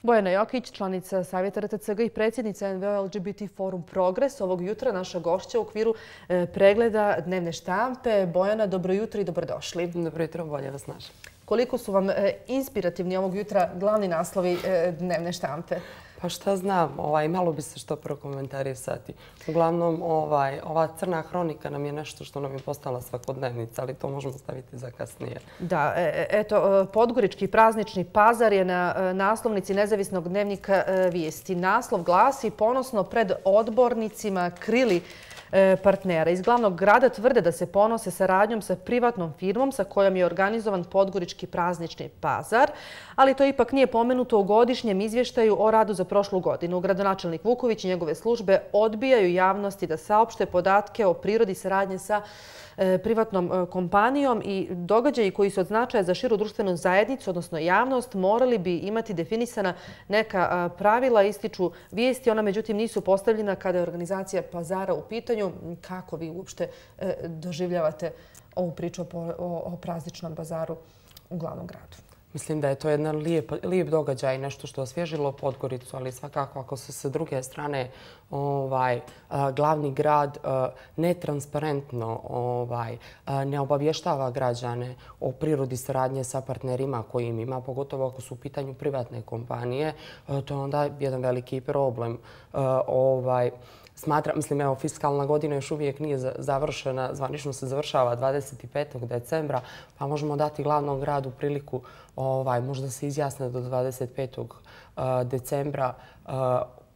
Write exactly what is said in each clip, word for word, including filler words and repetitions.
Bojana Jokić, članica Savjeta R T C G i predsjednica N V O L G B T Forum Progres. Ovog jutra naša gošća u okviru pregleda dnevne štampe. Bojana, dobro jutro i dobrodošli. Dobro jutro, bolje vas našli. Koliko su vam inspirativni ovog jutra glavni naslovi dnevne štampe? Pa šta znam, ovaj, malo bi se što prokomentarisati. Uglavnom, ovaj, ova crna hronika nam je nešto što nam je postala svakodnevnica, ali to možemo staviti za kasnije. Da, eto, Podgorički praznični pazar je na naslovnici Nezavisnog dnevnika Vijesti. Naslov glasi: ponosno pred odbornicima krili partnera. Iz glavnog grada tvrde da se ponose saradnjom sa privatnom firmom sa kojom je organizovan Podgorički praznični pazar, ali to ipak nije pomenuto u godišnjem izvještaju o radu za prošlu godinu. Gradonačelnik Vuković i njegove službe odbijaju javnosti da saopšte podatke o prirodi saradnje sa privatnom kompanijom i događaji koji su od značaja za širu društvenu zajednicu, odnosno javnost, morali bi imati definisana neka pravila, ističu Vijesti. Ona međutim nisu postavljena kada je organizacija pazara u pitanju. Kako vi uopšte doživljavate ovu priču o prazničnom bazaru u glavnom gradu? Mislim da je to jedan lijep, lijep događaj, nešto što je osvježilo Podgoricu, ali svakako ako se sa druge strane ovaj, glavni grad netransparentno ovaj, ne obavještava građane o prirodi saradnje sa partnerima kojim ima, pogotovo ako su u pitanju privatne kompanije, to je onda jedan veliki problem. Ovaj, Smatram, mislim, evo, fiskalna godina još uvijek nije završena, zvanično se završava dvadeset petog decembra, pa možemo dati glavnom gradu priliku ovaj, možda se izjasne do dvadeset petog decembra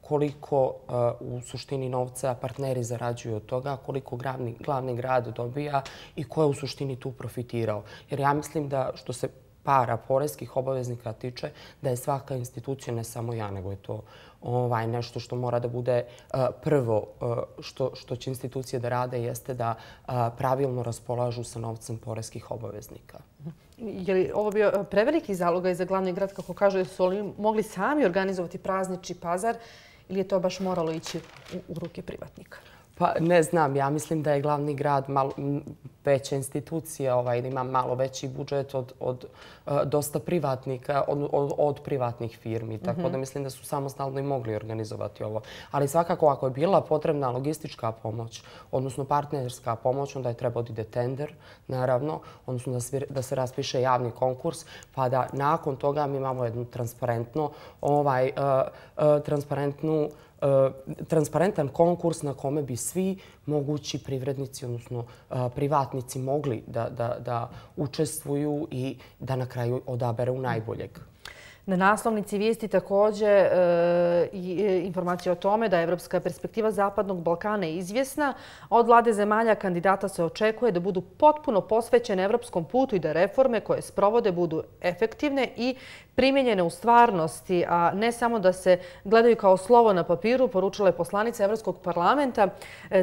koliko u suštini novca partneri zarađuju od toga, koliko glavni, glavni grad dobija i ko je u suštini tu profitirao. Jer ja mislim da što se para poreskih obaveznika tiče, da je svaka institucija, ne samo ja, nego je to ovaj, nešto što mora da bude uh, prvo uh, što, što će institucije da rade, jeste da uh, pravilno raspolažu sa novcem poreskih obaveznika. Je li ovo bio preveliki zalogaj za glavni grad, kako kažu, su li mogli sami organizovati praznični pazar ili je to baš moralo ići u, u ruke privatnika? Pa ne znam, ja mislim da je glavni grad malo veća institucija, ovaj, ima malo veći budžet od, od uh, dosta privatnika, od, od, od privatnih firmi. Tako mm-hmm. da mislim da su samostalno i mogli organizovati ovo. Ali svakako ako je bila potrebna logistička pomoć, odnosno partnerska pomoć, onda je trebao da ide tender, naravno, odnosno da se, da se raspiše javni konkurs, pa da nakon toga mi imamo jednu transparentno, ovaj, uh, uh, transparentnu transparentan konkurs na kome bi svi mogući privrednici, odnosno privatnici, mogli da, da, da učestvuju i da na kraju odaberu najboljeg. Na naslovnici Vijesti također e, informacija o tome da je evropska perspektiva Zapadnog Balkana izvjesna. Od vlade zemalja kandidata se očekuje da budu potpuno posvećene evropskom putu i da reforme koje sprovode budu efektivne i primjenjene u stvarnosti, a ne samo da se gledaju kao slovo na papiru, poručila je poslanica Evropskog parlamenta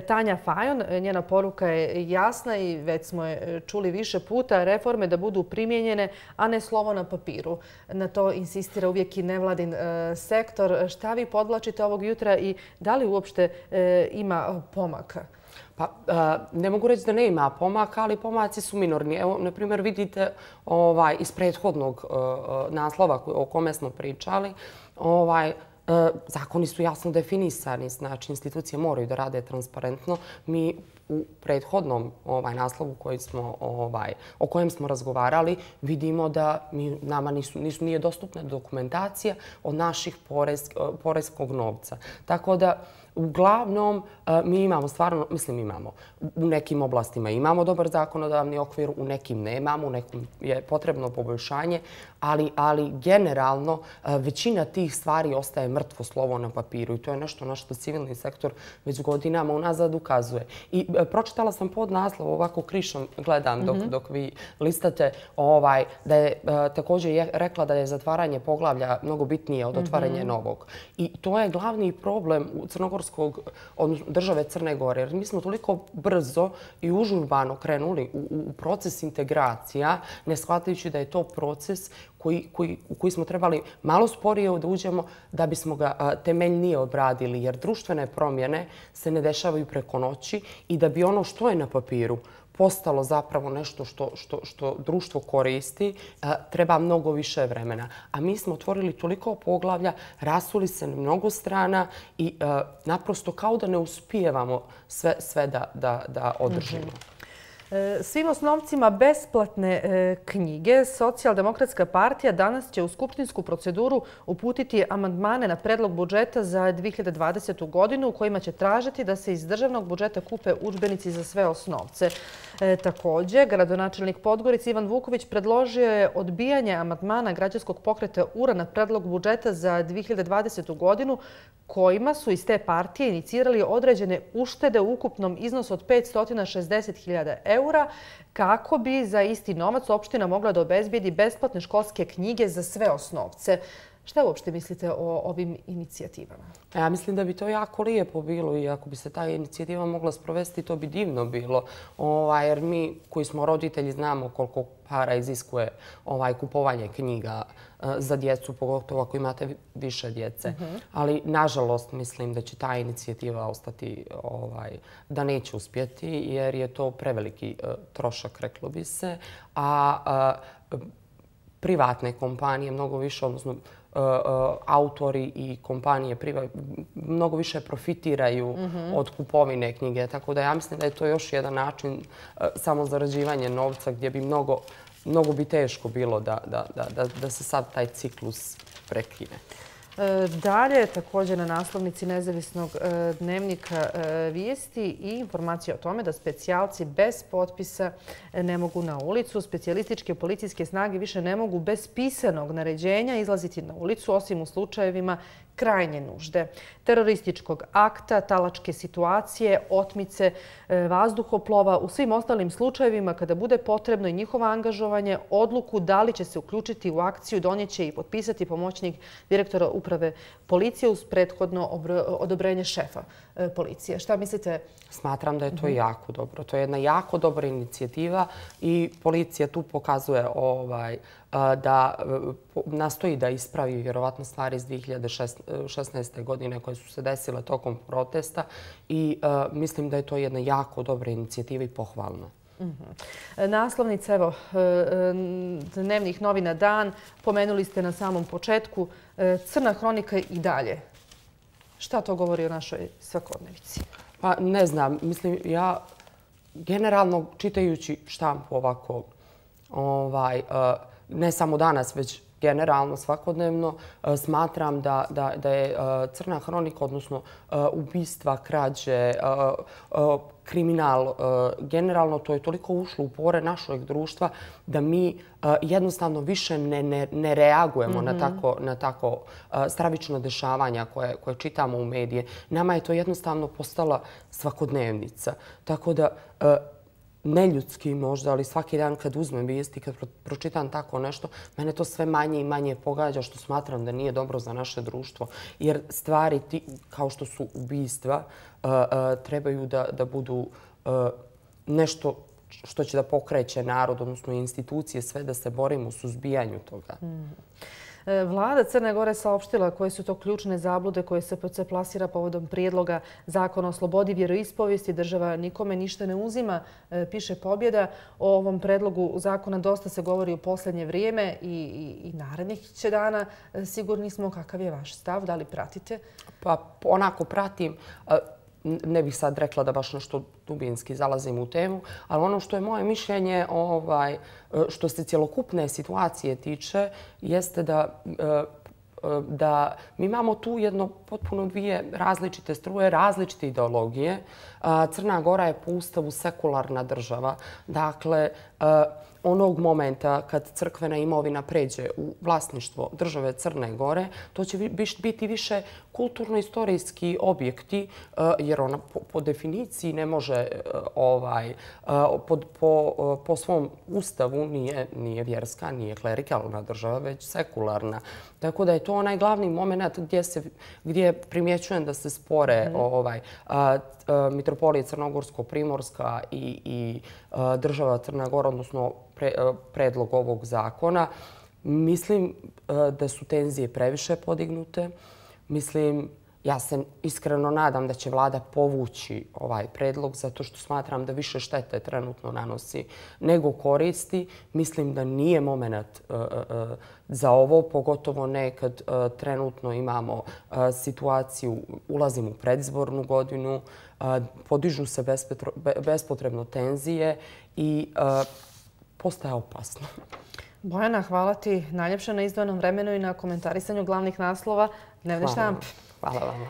Tanja Fajon. Njena poruka je jasna i već smo je čuli više puta, reforme da budu primjenjene, a ne slovo na papiru. Na to insistira uvijek i nevladin sektor. Šta vi podvlačite ovog jutra i da li uopšte ima pomaka? Pa, ne mogu reći da ne ima pomaka, ali pomaci su minorni. Evo, na primjer, vidite ovaj, iz prethodnog naslova o kome smo pričali, ovaj, zakoni su jasno definisani, znači institucije moraju da rade transparentno. Mi u prethodnom ovaj, naslovu koji smo, ovaj, o kojem smo razgovarali vidimo da mi, nama nisu, nisu, nije dostupna dokumentacija od naših porez, poreskog novca. Tako da uglavnom mi imamo stvarno, mislim imamo, u nekim oblastima imamo dobar zakonodavni okvir, u nekim nemamo, u nekim je potrebno poboljšanje, ali, ali generalno većina tih stvari ostaje mrtvo slovo na papiru i to je nešto na što civilni sektor već godinama unazad ukazuje. I pročitala sam pod naslov, ovako krišom gledam dok, mm-hmm. dok vi listate, ovaj, da je također je rekla da je zatvaranje poglavlja mnogo bitnije od otvaranja mm-hmm. novog. I to je glavni problem u crnogorskog, odnosno države Crne Gore, jer mi smo toliko brzo i užurbano krenuli u, u proces integracija, ne shvatajući da je to proces koji, koji, u koji smo trebali malo sporije da uđemo da bismo ga a, temeljnije obradili, jer društvene promjene se ne dešavaju preko noći i da bi ono što je na papiru postalo zapravo nešto što, što, što društvo koristi, treba mnogo više vremena. A mi smo otvorili toliko poglavlja, rasuli se na mnogo strana i naprosto kao da ne uspijevamo sve, sve da, da, da održimo. Svim osnovcima besplatne knjige Socijaldemokratska partija danas će u skupštinsku proceduru uputiti amandmane na predlog budžeta za dvije hiljade dvadesetu. godinu u kojima će tražiti da se iz državnog budžeta kupe udžbenici za sve osnovce. Također, gradonačelnik Podgorice Ivan Vuković predložio je odbijanje amandmana građanskog pokreta U R A na predlog budžeta za dvije hiljade dvadesetu. godinu kojima su iz te partije inicirali određene uštede u ukupnom iznosu od petsto šezdeset hiljada eura kako bi za isti novac opština mogla da obezbijedi besplatne školske knjige za sve osnovce. Šta uopšte mislite o ovim inicijativama? Ja mislim da bi to jako lijepo bilo i ako bi se ta inicijativa mogla sprovesti, to bi divno bilo. Ovaj, jer mi koji smo roditelji znamo koliko para iziskuje ovaj, kupovanje knjiga uh, za djecu, pogotovo ako imate više djece. Uh-huh. Ali nažalost mislim da će ta inicijativa ostati, ovaj, da neće uspjeti jer je to preveliki uh, trošak, reklo bi se. A uh, privatne kompanije mnogo više, odnosno autori i kompanije mnogo više profitiraju mm-hmm. od kupovine knjige. Tako da ja mislim da je to još jedan način samo zarađivanja novca gdje bi mnogo, mnogo bi teško bilo da, da, da, da se sad taj ciklus prekine. Dalje, također na naslovnici Nezavisnog dnevnika vijesti i informacije o tome da specijalci bez potpisa ne mogu na ulicu. Specijalističke policijske snage više ne mogu bez pisanog naređenja izlaziti na ulicu, osim u slučajevima krajnje nužde. Terorističkog akta, talačke situacije, otmice, vazduhoplova, u svim ostalim slučajevima kada bude potrebno i njihovo angažovanje, odluku da li će se uključiti u akciju donijeće i potpisati pomoćnik direktora uprave policije uz prethodno odobrenje šefa policije. Šta mislite? Smatram da je to jako dobro. To je jedna jako dobra inicijativa i policija tu pokazuje ovaj, da nastoji da ispravi vjerovatno stvari iz dvije hiljade šesnaeste. godine koje su se desile tokom protesta i uh, mislim da je to jedna jako dobra inicijativa i pohvalna. Mm-hmm. Naslovnica, evo, dnevnih novina Dan, pomenuli ste na samom početku, crna hronika i dalje. Šta to govori o našoj svakodnevici? Pa ne znam, mislim, ja generalno čitajući štampu ovako, ovaj, uh, ne samo danas, već generalno svakodnevno, smatram da, da, da je crna hronika, odnosno ubistva, krađe, kriminal, generalno to je toliko ušlo u pore našeg društva da mi jednostavno više ne, ne, ne reagujemo mm-hmm. na tako, na tako stravična dešavanja koje, koje čitamo u medije. Nama je to jednostavno postala svakodnevnica. Tako da neljudski možda, ali svaki dan kad uzmem vijesti, kad pročitam tako nešto, mene to sve manje i manje pogađa, što smatram da nije dobro za naše društvo. Jer stvari ti, kao što su ubistva uh, uh, trebaju da, da budu uh, nešto što će da pokreće narod, odnosno institucije, sve da se borimo u suzbijanju toga. Mm. Vlada Crne Gore saopštila koje su to ključne zablude koje se P C plasira povodom prijedloga zakona o slobodi vjeroispovijesti. Država nikome ništa ne uzima, piše Pobjeda. O ovom predlogu zakona dosta se govori u posljednje vrijeme i, i, i narednih će dana. Sigurni smo kakav je vaš stav, da li pratite? Pa onako pratim. Ne bih sad rekla da baš nešto dubinski zalazim u temu, ali ono što je moje mišljenje, ovaj, što se cjelokupne situacije tiče, jeste da, da mi imamo tu jedno potpuno dvije različite struje, različite ideologije. Crna Gora je po ustavu sekularna država. Dakle, onog momenta kad crkvena imovina pređe u vlasništvo države Crne Gore, to će biti više kulturno-istorijski objekti, jer ona po, po definiciji ne može, ovaj, po, po, po svom ustavu nije, nije vjerska, nije klerikalna država, već sekularna. Tako da je to onaj glavni moment gdje, se, gdje primjećujem da se spore mm. ovaj, a, a, Mitropolije Crnogorsko-Primorska i, i a, država Crna Gora, odnosno pre, a, predlog ovog zakona. Mislim a, da su tenzije previše podignute. Mislim Ja se iskreno nadam da će vlada povući ovaj predlog zato što smatram da više štete trenutno nanosi nego koristi. Mislim da nije moment za ovo, pogotovo ne kad trenutno imamo situaciju, ulazimo u predizbornu godinu, podižu se bespotrebno tenzije i postaje opasno. Bojana, hvala ti najljepše na izdvojenom vremenu i na komentarisanju glavnih naslova dnevne štampe. Hvala vam.